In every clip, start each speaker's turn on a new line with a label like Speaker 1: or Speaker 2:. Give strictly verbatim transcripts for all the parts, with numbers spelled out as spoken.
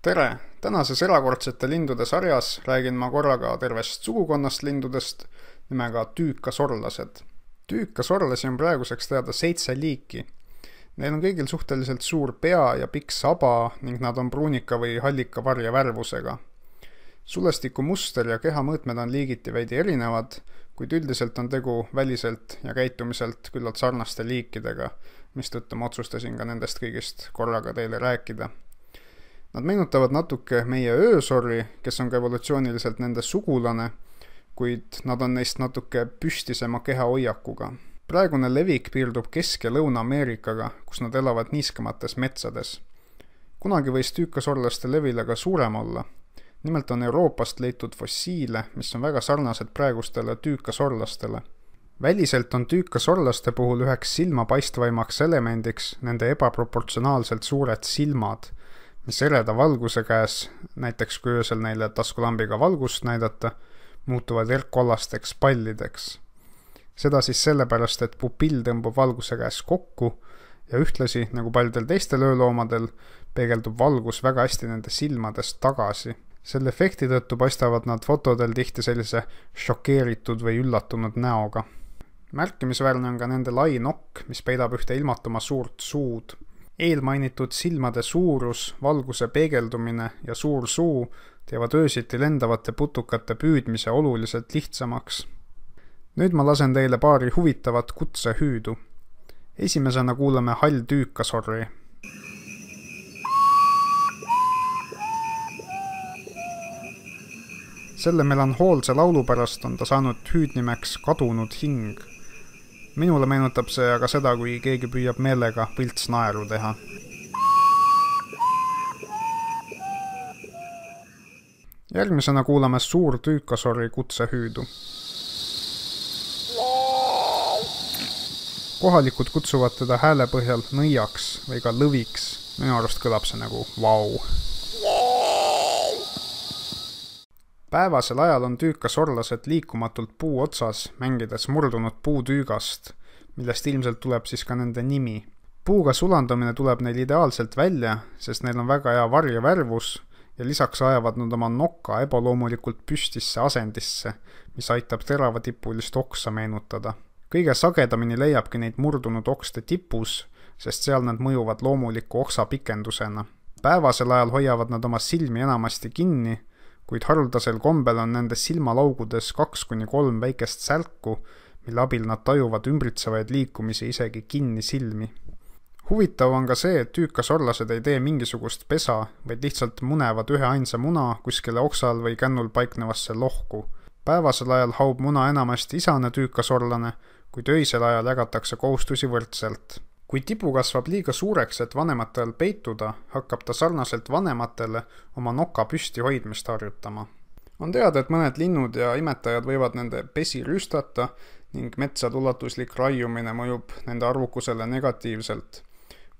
Speaker 1: Tere! Tänases erakordsete lindude sarjas räägin ma korraga tervest sugukonnast lindudest nimega tüükasorlased. Tüükasorlasi on praeguseks teada seitse liiki. Neil on kõigil suhteliselt suur pea ja pikk saba ning nad on pruunika või hallika varja värvusega. Sulestiku muster ja kehamõõtmed on liigiti veidi erinevad, kuid üldiselt on tegu väliselt ja käitumiselt küllalt sarnaste liikidega, mistõttu ma otsustasin ka nendest kõigist korraga teile rääkida. Nad meenutavad natuke meie öösorri, kes on ka evolutsiooniliselt nende sugulane, kuid nad on neist natuke püstisema kehahoiakuga. Praegune levik piirdub Kesk- ja Lõuna-Ameerikaga, kus nad elavad niiskemates metsades. Kunagi võis tüükasorlaste levile ka suurem olla. Nimelt on Euroopast leitud fossiile, mis on väga sarnased praegustele tüükasorlastele. Väliselt on tüükasorlaste puhul üheks silmapaistvaimaks elemendiks nende ebaproportsionaalselt suured silmad, mis ereda valguse käes, näiteks kui öösel neile taskulambiga valgust näidata, muutuvad erkkollasteks pallideks. Seda siis sellepärast, et pupill tõmbub valguse käes kokku ja ühtlasi, nagu paljudel teistel ööloomadel, peegeldub valgus väga hästi nende silmadest tagasi. Selle efekti tõttu paistavad nad fotodel tihti sellise šokeeritud või üllatunud näoga. Märkimisväärne on ka nende lai nokk, mis peidab ühte ilmatuma suurt suud. Eelmainitud silmade suurus, valguse peegeldumine ja suur suu teevad öösiti lendavate putukate püüdmise oluliselt lihtsamaks. Nüüd ma lasen teile paari huvitavat kutsehüüdu. Esimesena kuulame hall tüükasorri. Selle melanhoolse laulu pärast on ta saanud hüüdnimeks kadunud hing. Minule meenutab see aga seda, kui keegi püüab meelega võlts naeru teha. Järgmisena kuulame suur tüükasorri kutsehüüdu. Kohalikud kutsuvad teda hääle põhjal nõiaks või ka lõviks. Minu arust kõlab see nagu vau. Päevasel ajal on tüükasorlased liikumatult puu otsas, mängides murdunud puutüügast, millest ilmselt tuleb siis ka nende nimi. Puuga sulandumine tuleb neil ideaalselt välja, sest neil on väga hea varjevärvus ja lisaks ajavad nad oma noka ebaloomulikult püstisse asendisse, mis aitab teravatippulist oksa meenutada. Kõige sagedamini leiabki neid murdunud okste tipus, sest seal nad mõjuvad loomuliku oksa pikendusena. Päevasel ajal hoiavad nad oma silmi enamasti kinni, kuid haruldasel kombel on nende silmalaugudes kaks kuni kolm väikest sälku, mille abil nad tajuvad ümbritsevaid liikumisi isegi kinni silmi. Huvitav on ka see, et tüükasorlased ei tee mingisugust pesa, vaid lihtsalt munevad ühe ainsa muna kuskile oksal või kännul paiknevasse lohku. Päevasel ajal haub muna enamasti isane tüükasorlane, kuid öisel ajal jagatakse kohustusi võrdselt. Kui tipu kasvab liiga suureks, et vanematel peituda, hakkab ta sarnaselt vanematele oma noka püsti hoidmist harjutama. On teada, et mõned linnud ja imetajad võivad nende pesi rüstata ning metsade ulatuslik raiumine mõjub nende arvukusele negatiivselt,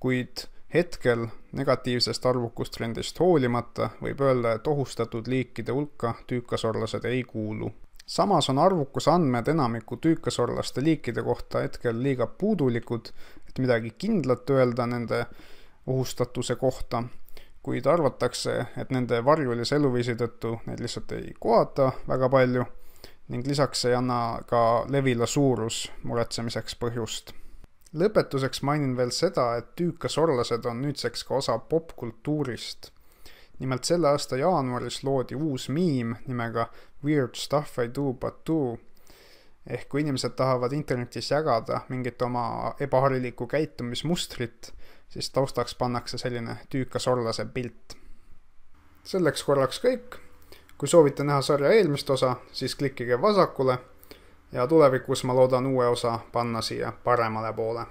Speaker 1: kuid hetkel negatiivsest arvukustrendist hoolimata võib öelda, et ohustatud liikide hulka tüükasorlased ei kuulu. Samas on arvukuse andmed enamiku tüükasorlaste liikide kohta hetkel liiga puudulikud, et midagi kindlat öelda nende ohustatuse kohta, kuid arvatakse, et nende varjulise eluviisi tõttu neid lihtsalt ei kohata väga palju ning lisaks ei anna ka levila suurus muretsemiseks põhjust. Lõpetuseks mainin veel seda, et tüükasorlased on nüüdseks ka osa popkultuurist. Nimelt selle aasta jaanuaris loodi uus miim nimega Weird Stuff I Do But Do, ehk kui inimesed tahavad internetis jagada mingit oma ebaharilikku käitumismustrit, siis taustaks pannakse selline tüükasorlase pilt. Selleks korraks kõik. Kui soovite näha sarja eelmist osa, siis klikkige vasakule ja tulevikus ma loodan uue osa panna siia paremale poole.